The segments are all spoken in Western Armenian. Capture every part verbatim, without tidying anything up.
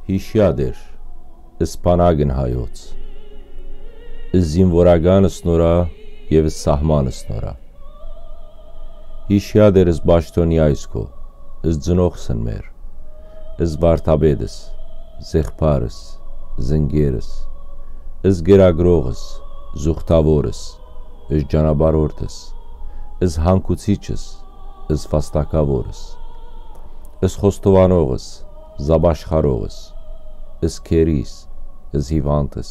Յիշեա Տէր, սփանագն հայոց, զինուորական սնորա եւ սահման սնորա։ Յիշեա Տէր, զպաշտօնեայ քո, զծնողս մեր, զվարդապետս, զեղբարս, զընկերս, զկերակրողս, զուխտաւորս, զճանապարհորդս, զհանգուցիչս, զվաստակաւորս, զխոստովանողս, զապաշխարողս, զքերիս, զհիւանդս,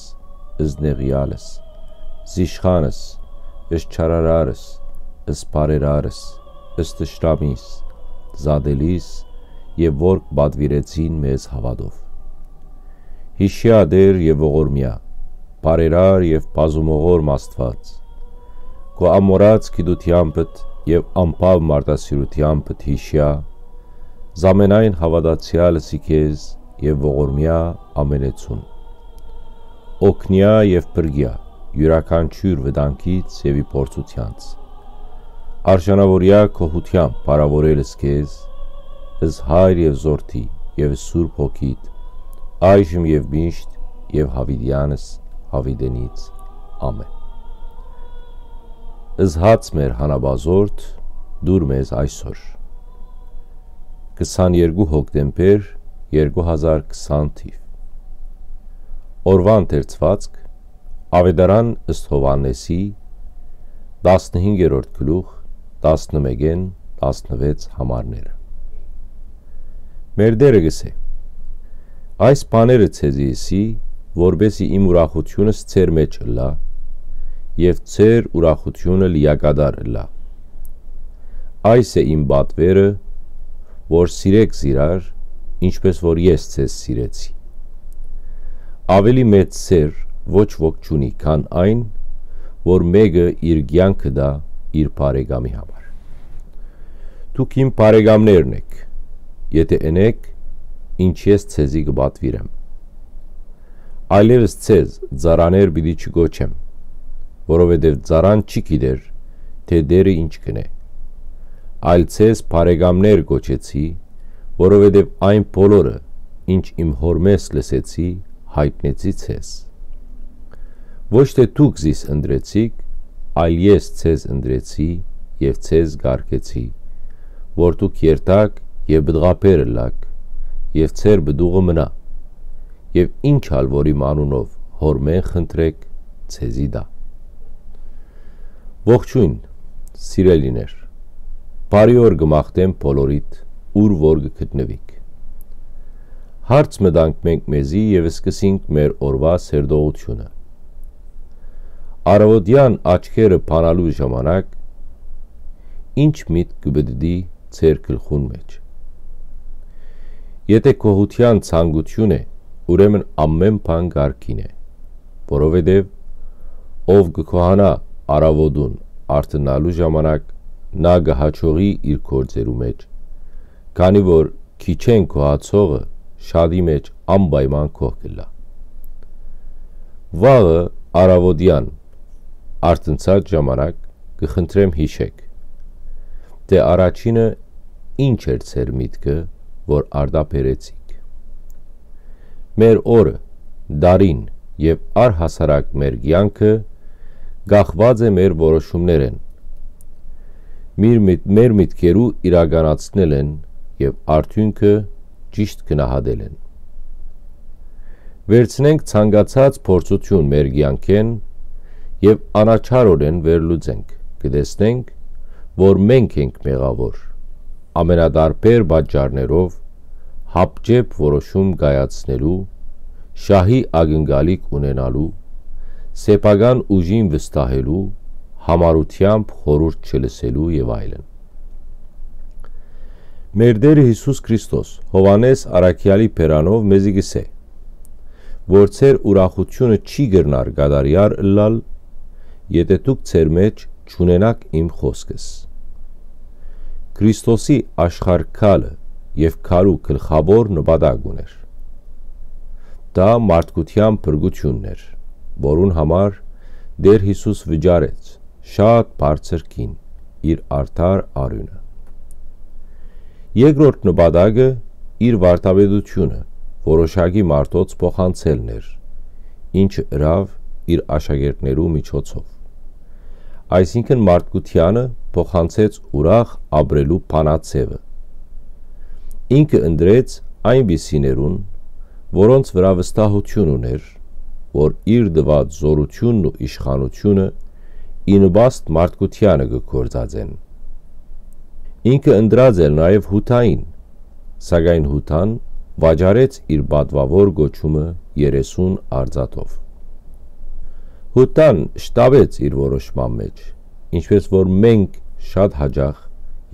զնեղեալս, զիշխանս, զչարարարս, զբարերարս, զտշնամիս, զատելիս եւ որ պատուիրեցին մեզ հաւատով։ Յիշեա Տէր եւ ողորմեայ, բարերար եւ բազումողորմ Աստուած, քո ամորած գիտութեամբդ եւ անբաւ մարդասիրութեամբդ յիշեա, զամենայն հաւատացեալս ի քեզ եւ ողորմեայ ամենեցուն։ Օգնեայ եւ փրկեայ յուրաքանչիւր վտանգից եւ ի փորձութեանց։ Արժանաւորեայ գոհութեամբ փառաւորելս քեզ, ըս Հայր եւ Զորդի եւ Սուրբ Հոգիդ, այժմ եւ միշտ եւ յաւիտեանս յաւիտենից։ Ամէն։ Զհաց մեր հանապազորդ, դուր մեզ այսօր։ Քսաներկու հոկտեմբեր, երկու հազար քսան թիվ։ Օրուան դերձուածք, Աւետարան ըստ Յովհաննէսի, տասնհինգերորդ գլուխ, տասնմէկէն տասնվեց համարները։ Մեր Տէրը կ'ըսէ. «Այս բաները ձեզի ըսի, որպէս զի իմ ուրախութիւնս ձեր մէջ ըլլայ եւ ձեր ուրախութիւնը լիակատար ըլլայ։ Այս է իմ պատուերը, որ սիրէք զիրար, ինչպէս որ ես ձեզ սիրեցի։ Աւելի մեծ սէր ոչ ոք չունի, քան այն, որ մէկը իր կեանքը տայ իր բարեկամի համար։ Դուք իմ բարեկամներն էք, եթէ ընէք, ինչ ես ձեզի կը պատուիրեմ։ Այլեւս ձեզ ծառաներ պիտի չկոչեմ, որովհետեւ ծառան չի գիտեր, թէ Տէրը ինչ կ'ընէ։ Այլ ձեզ բարեկամներ կոչեցի, որովհետեւ այն բոլորը, ինչ իմ Հօրմէս լսեցի, յայտնեցի ձեզ։ Ոչ թէ դուք զիս ընտրեցիք, այլ ես ձեզ ընտրեցի եւ ձեզ կարգեցի, որ դուք երթաք եւ պտղաբեր ըլլաք, եւ ձեր պտուղը մնայ, եւ ինչ ալ որ իմ անունով Հօրմէն խնդրէք, ձեզի տայ»։ Ողջոյն, սիրելիներ, բարի օր կը մաղթեմ բոլորիդ, ուր որ կը գտնուիք։ Հարց մտանք մենք մեզի եւ սկսենք մեր օրուայ սերտողութիւնը։ Առաւօտեան աչքերը բանալու ժամանակ ի՞նչ միտք կը պտտի ձեր գլխուն մէջ։ Եթէ գոհութեան ցանկութիւն է, ուրեմն ամէն բան կարգին է, որովհետեւ ով կը գոհանայ առաւօտուն արթնալու ժամանակ, նա կը յաջողի իր գործերու մէջ, քանի որ քիչէն գոհացողը շատի մէջ անպայման գոհ կ'ըլլայ։ Վաղը առաւօտեան արթնցած ժամանակ կը խնդրեմ յիշէք, թէ առաջինը ինչ էր ձեր միտքը, որ արտաբերեցիք։ Մեր օրը, տարին եւ առհասարակ մեր կեանքը կախուած է մեր որոշումներէն։ Մեր միտ-, մեր միտքերու իրականացնել են եւ արդիւնքը ճիշտ գնահատել են։ Վերցնենք ցանկացած փորձութիւն մեր կեանքէն եւ անաչառօրէն վերլուծենք, կը տեսնենք, որ մենք ենք մեղաւոր, ամենատարբեր պատճառներով, հապճեպ որոշում կայացնելու, շահի ակնկալիք ունենալու, սեփական ուժին վստահելու, յամառութեամբ խորհուրդ չլսելու եւ այլն։ Մեր Տէրը Յիսուս Քրիստոս Յովհաննէս առաքեալի բերանով մեզի կ'ըսէ, որ ձեր ուրախութիւնը չի կրնար կատարեալ ըլլալ, եթէ դուք ձեր մէջ չունենաք իմ խօսքս։ Քրիստոսի աշխարհ գալը եւ գալու գլխաւոր նպատակ ունէր։ Դա մարդկութեան փրկութիւնն էր, որուն համար Տէր Յիսուս վճարեց շատ բարձր գին, իր արդար արիւնը։ Երկրորդ նպատակը իր վարդապետութիւնը, որոշակի մարդոց փոխանցելն էր, ինչը ըրաւ իր աշակերտներու միջոցով։ Այսինքն մարդկությանը փոխանցեց ուրախ ապրելու բանաձեւը։ Ինքը ընտրեց այնպիսիներուն, որոնց վրայ վստահութիւն ունէր, որ իր տուած զօրութիւնն ու իշխանութիւնը ի նպաստ մարդկությանը կը գործածեն։ Ինքը ընտրած էր նաեւ Յուդային, սակայն Յուդան վաճառեց իր պատուաւոր կոչումը երեսուն արծաթով։ Յուդան շտապեց իր որոշման մէջ, ինչպես որ մենք շատ հաճախ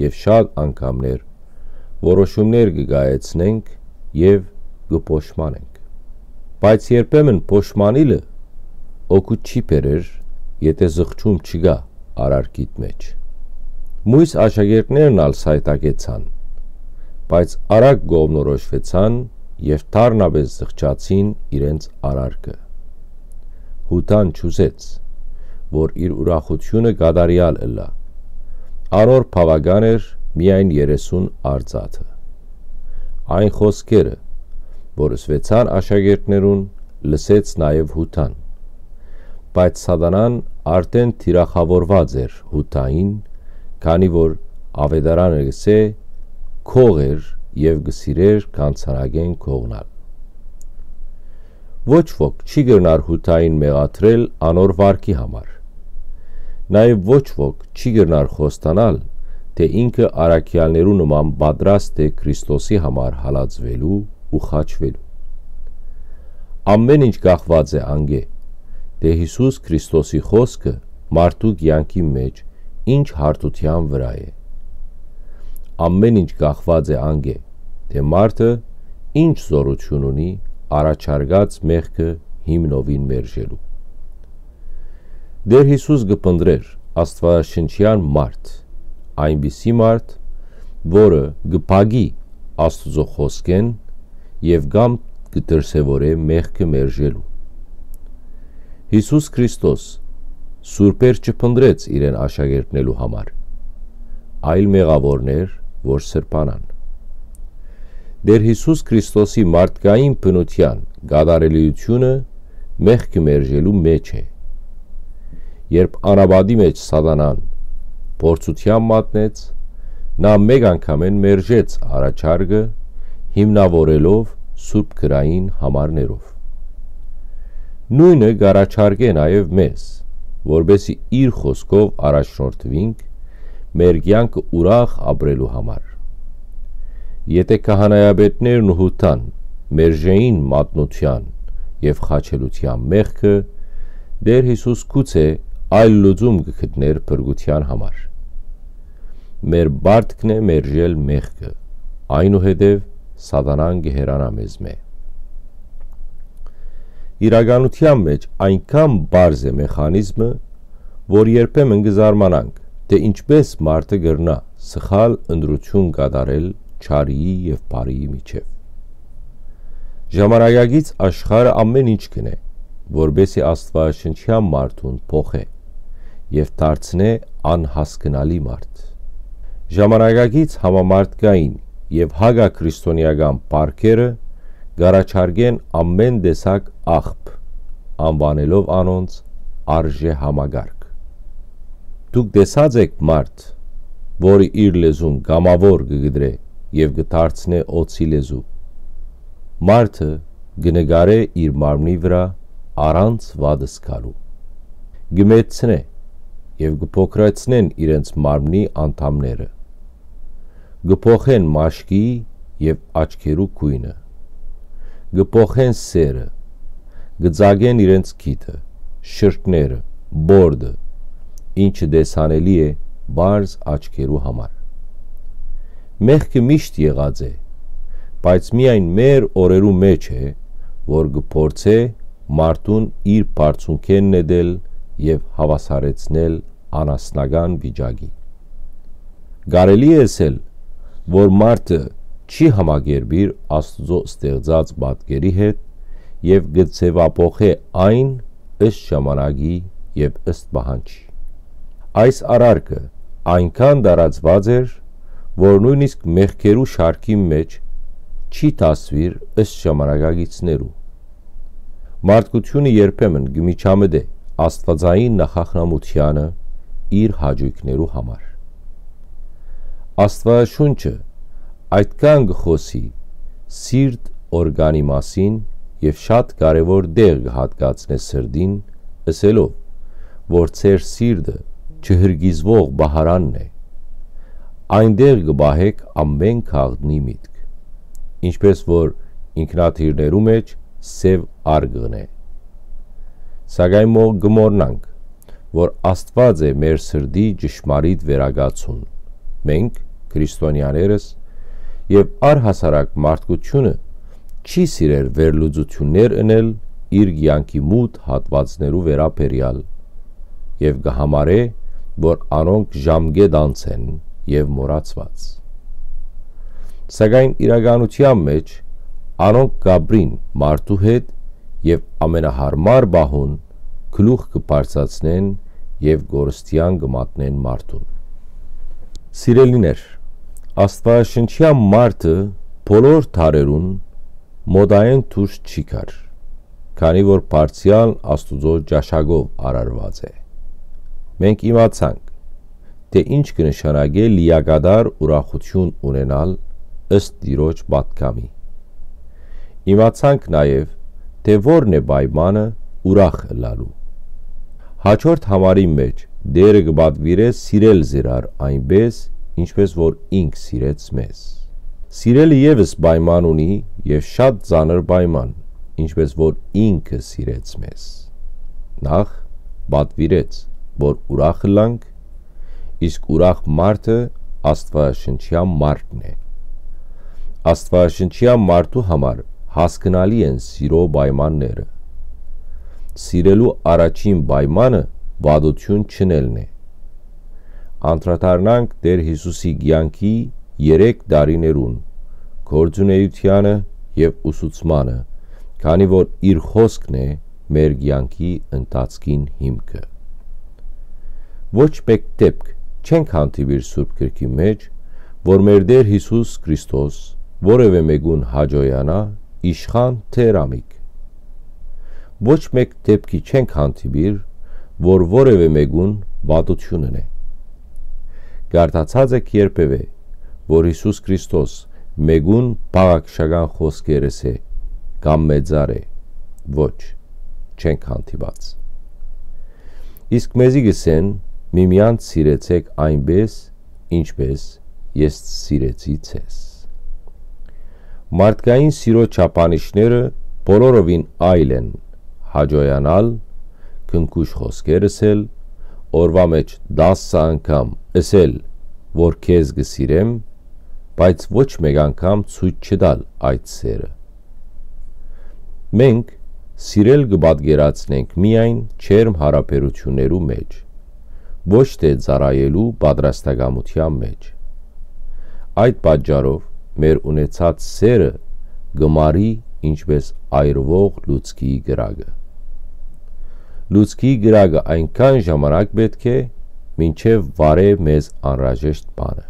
եւ շատ անգամներ որոշումներ կը կայացնենք եւ կը փոշմանենք։ Բայց երբեմն փոշմանիլը օգուտ չի բերեր, եթէ զղջում չկայ արարքիդ մէջ։ Մոյս աշակերտներն ալ սայթակեցան, բայց արագ կողմնորոշուեցան եւ դառնապէս զղջացին իրենց արարքը։ Յուդան չուզեց, որ իր ուրախութիւնը կատարեալ ըլլայ։ Անոր բաւական էր միայն երեսուն արծաթը։ Այն խօսքերը, որ ըսուեցան աշակերտներուն, լսեց նաեւ Յուդան։ Բայց Սատանան արդէն թիրախաւորուած էր Յուդային, քանի որ Աւետարանը կ'ըսէ, քող էր եւ կը սիրէր գանձանակէն կողնալ։ Ոչ ոք չի կրնար Յուդային մեղադրել անոր վարքի համար։ Նաեւ ոչ ոք չի կրնար խոստանալ, թէ ինքը առաքեալներու նման պատրաստ է Քրիստոսի համար հալածուելու ու խաչուելու։ Ամէն ինչ կախուած է անկէ, թէ Յիսուս Քրիստոսի խօսքը մարդու կեանքի մէջ ինչ հարթութեան վրայ է։ Ամէն ինչ կախուած է անկէ, թէ մարդը ինչ զօրութիւն ունի առաջարկած մեղքը հիմնովին մերժելու։ Տէր Յիսուս կը փնտռէր աստուածաշնչեան մարդ, այնպիսի մարդ, որը կը փակի Աստուծոյ խօսքէն եւ կամ կը դրսեւորէ մեղքը մերժելու։ Յիսուս Քրիստոս սուրբեր չփնտռեց իրեն աշակերտներու համար, այլ մեղաւորներ, որ սրբանան։ Տէր Յիսուս Քրիստոսի մարդկային բնութեան կատարելիությունը մեղքը մերժելու մէջ է։ Երբ անապատի մէջ Սատանան փորձութեան մատնեց, նա մէկ անգամէն մերժեց առաջարկը՝ հիմնաւորելով սուրբ գրային համարներով։ Նոյնը կ'առաջարկէ նաեւ մեզ, որպէսզի իր խօսքով առաջնորդուինք մեր կեանքը ուրախ ապրելու համար։ Եթէ քահանայապետներն ու Յուդան մերժէին մատնութեան եւ խաչելութեան մեղքը, Տէր Յիսուս գուցե այլ լուծում կը գտնէր փրկութեան համար։ Մեր պարտքն է մերժել մեղքը, այնուհետեւ Սատանան կը հեռանայ մեզմէ։ Իրականութեան մէջ այնքան պարզ է մեխանիզմը, որ երբեմն կը զարմանանք, թէ ինչպէս մարդը կրնայ սխալ ընտրութիւն կատարել չարիի եւ բարիի միջեւ։ Ժամանակակից աշխարհը ամէն ինչ կ'ընէ, որպէսզի աստուածաշնչեան մարդուն փոխէ եւ դարձնէ անհասկնալի մարդ։ Ժամանակակից համամարդկային եւ հակաքրիստոնեական պարքերը կ'առաջարկեն ամէն տեսակ աղբ, անուանելով անոնց արժեհամակարգ։ Դուք տեսա՞ծ էք մարդ, որը իր լեզուն կամաւոր կը կտրէ եւ կը դարձնէ օձի լեզու։ Մարդը կը նկարէ իր մարմնի վրայ առանց վատ զգալու։ Կը մեծցնէ եւ կը փոքրացնեն իրենց մարմնի անդամները։ Կը փոխեն մաշկի եւ աչքերու գոյնը։ Կը փոխեն սերը, կը ծակեն իրենց քիթը, շրթները, բորդը, ինչը տեսանելի է պարզ աչքերու համար։ Մեղքը միշտ եղած է, բայց միայն մեր օրերու մէջ է, որ կը փորձէ մարդուն իր բարձունքէն նետել եւ հաւասարեցնել անասնական վիճակի։ Կարելի է ըսել, որ մարդը չի համակերպիր Աստուծոյ ստեղծած պատկերի հետ եւ կը ձեւափոխէ այն ըստ ժամանակի եւ ըստ պահանջի։ Այս արարքը այնքան տարածուած էր, որ նոյնիսկ մեղքերու շարքին մէջ չի դասուիր ըստ ժամանակակիցներու։ Մարդկութիւնը երբեմն կը միջամտէ աստուածային նախախնամութեանը իր հաճոյքներու համար։ Աստուածաշունչը այդքան կը խօսի սիրտ օրգանի մասին եւ շատ կարեւոր տեղ կը հատկացնէ սրտին, ըսելով, որ ձեր սիրտը չհրկիզուող պահարանն է։ Այնտեղ կը պահէք ամէն գաղտնի միտք, ինչպէս որ ինքնաթիռներու մէջ սեւ արկղն է։ Սակայն մո-, կը մոռնանք, որ Աստուած է մեր սրտի ճշմարիտ վերակացուն։ Մենք, քրիստոնեաներս, եւ առհասարակ մարդկութիւնը չի սիրեր վերլուծութիւններ ընել իր կեանքի մութ հատուածներու վերաբերեալ եւ կը համարէ, որ անոնք ժամկետ անց են եւ մոռացուած։ Սակայն իրականութեան մէջ անոնք կ'ապրին մարդու հետ եւ ամենահարմար պահուն գլուխ կը բարձրացնեն եւ կորստեան կը մատնեն մարդուն։ Սիրելիներ, Աստուածաշնչեան մարդը բոլոր դարերուն մոդայէն դուրս չի գար, քանի որ բարձրեալ Աստուծոյ ճաշակով արարուած է։ Մենք իմացանք, թէ ինչ կը նշանակէ լիակատար ուրախութիւն ունենալ ըստ Տիրոջ պատգամի։ Իմացանք նաեւ, թէ որն է պայմանը ուրախ ըլլալու։ Հաջորդ համարին մէջ Տէրը կը պատուիրէ սիրել զիրար այնպէս, ինչպէս որ ինք սիրեց մեզ։ Սիրելը եւս պայման ունի եւ շատ ծանր պայման, ինչպէս որ ինքը սիրեց մեզ։ Նախ պատուիրեց, որ ուրախ ըլլանք, իսկ ուրախ մարդը Աստուածաշնչեան մարդն է։ Աստուածաշնչեան մարդու համար հասկնալի են սիրո պայմանները։ Սիրելու առաջին պայմանը վատութիւն չընելն է։ Անդրադառնանք Տէր Յիսուսի կեանքի երեք տարիներուն, գործունեութեանը եւ ուսուցմանը, քանի որ իր խօսքն է մեր կեանքի ընթացքին հիմքը։ Ոչ մէկ դէպք չենք հանդիպիր Սուրբ Գրքի մէջ, որ մեր Տէր Յիսուս Քրիստոս որեւէ մէկուն հաճոյանայ իշխան թէ հրամիկ։ Ոչ մէկ դէպքի չենք հանդիպիր, որ որեւէ մէկուն վատութիւն ընէ։ Կարդացած եք երբեւէ, որ Յիսուս Քրիստոս մէկուն բաղակշական խօսքեր ըսէ կամ մեծարէ։ Ոչ, չենք հանդիպած։ Իսկ մեզի կ'ըսեն. «Միմեանց սիրեցէք այնպէս, ինչպէս ես սիրեցի ձեզ»։ Մարդկային սիրո չափանիշները բոլորովին այլ են. հաճոյանալ, քնքուշ խօսքեր ըսել, օրուայ մէջ տասը անգամ ըսել, որ քեզ կը սիրեմ, բայց ոչ մէկ անգամ ցոյց չտալ այդ սերը։ Մենք սիրել կը պատկերացնենք միայն ջերմ յարաբերութիւններու մէջ, ոչ թէ ծառայելու պատրաստակամութեան մէջ։ Այդ պատճառով մեր ունեցած սերը կը մարի, ինչպէս այրուող լուցկի կրակը։ Լուցկի կրակը այնքան ժամանակ պէտք է, մինչեւ վառէ մեզ անհրաժեշտ բանը։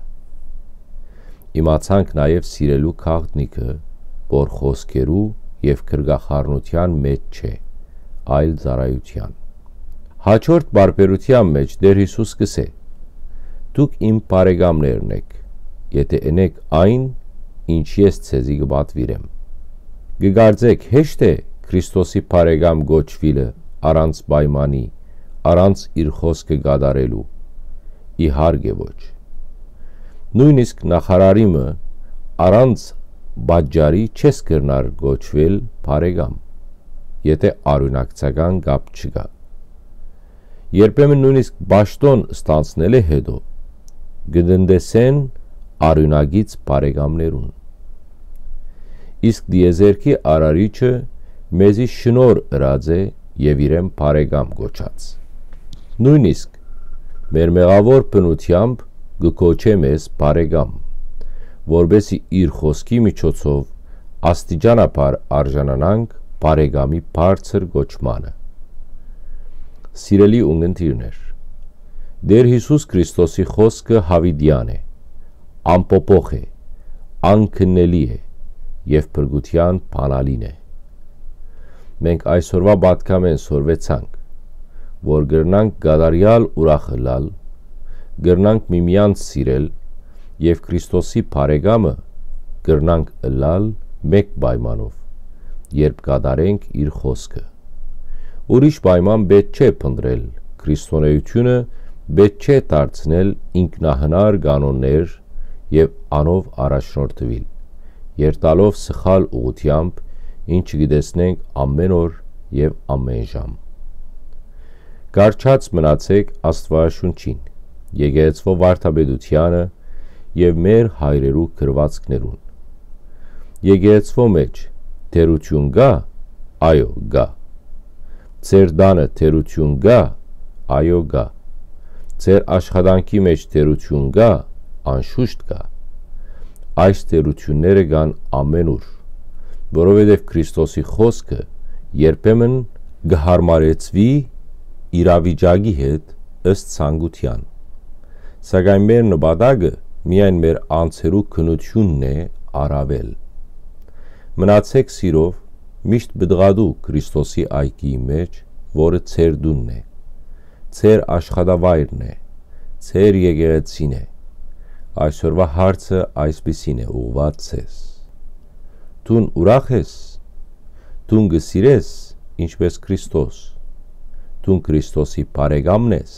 Իմացանք նաեւ սիրելու գաղտնիքը, որ խօսքերու եւ գրկախառնութեան մէջ չէ, այլ ծառայութեան։ Հաջորդ պարբերութեան մէջ Տէր Յիսուս կ'ըսէ. «Դուք իմ բարեկամներն էք, եթէ ընէք այն, ինչ ես ձեզի կը պատուիրեմ»։ Կը կարծէք հեշտ է Քրիստոսի բարեկամ կոչուիլը առանց պայմանի, առանց իր խօսքը կատարելու։ Իհարկե ոչ։ Նոյնիսկ նախարարի մը առանց պատճառի չես կրնար կոչուել բարեկամ, եթէ արիւնակցական կապ չկայ։ Երբեմն նոյնիսկ պաշտօն ստանձնելէ յետոյ կը տնտեսեն արիւնակից բարեկամներուն։ Իսկ տիեզերքի Արարիչը մեզի շնորհ ըրած է եւ իրեն բարեկամ կոչած։ Նոյնիսկ մեր մեղաւոր բնութեամբ կը կոչէ մեզ բարեկամ, որպէսզի իր խօսքի միջոցով աստիճանաբար արժանանանք բարեկամի բարձր կոչմանը։ Սիրելի ունգընտիրներ, Տէր Յիսուս Քրիստոսի խօսքը յաւիտեան է, անփոփոխ է, անքննելի է, եւ փրկութեան բանալին է։ Մենք այսօրուայ պատգամէն սորվեցանք, որ կրնանք կատարեալ ուրախ ըլլալ, կրնանք միմեանց սիրել եւ Քրիստոսի բարեկամը կրնանք ըլլալ մէկ պայմանով, երբ կատարենք իր խօսքը։ Ուրիշ պայման պէտք չէ փնտռել, քրիստոնէութիւնը պէտք չէ դարձնել ինքնահնար կանոններ եւ անով առաջնորդուիլ, երթալով սխալ ուղղութեամբ, ինչը կը տեսնենք ամէն օր եւ ամէն ժամ։ Կառչած մնացէք Աստուածաշունչին, եկեղեցւոյ վարդապետութեանը եւ մեր հայրերու գրուածքներուն։ Եկեղեցւոյ մէջ թերութիւն կա՞։ Այո, կա։ Ձեր տանը թերութիւն կա՞։ Այո, կա։ Ձեր աշխատանքի մէջ թերութիւն կա՞։ Անշուշտ կա։ Այս թերութիւնները կան ամէնուր, որովհետեւ Քրիստոսի խօսքը երբեմն կը յարմարեցուի իրավիճակի հետ ըստ ցանկութեան։ Սակայն մեր նպատակը միայն մեր անձերու քննութիւնն է առաւել։ Մնացէք սիրով, միշտ պտղատու Քրիստոսի այգիի մէջ, որը ձեր տունն է, ձեր աշխատավայրն է, ձեր եկեղեցին է։ Այսօրուայ հարցը այսպիսին է ուղղուած ձեզ. դուն ուրախ ես, դուն կը սիրես, ինչպես Քրիստոս, դուն Քրիստոսի բարեկամն ես,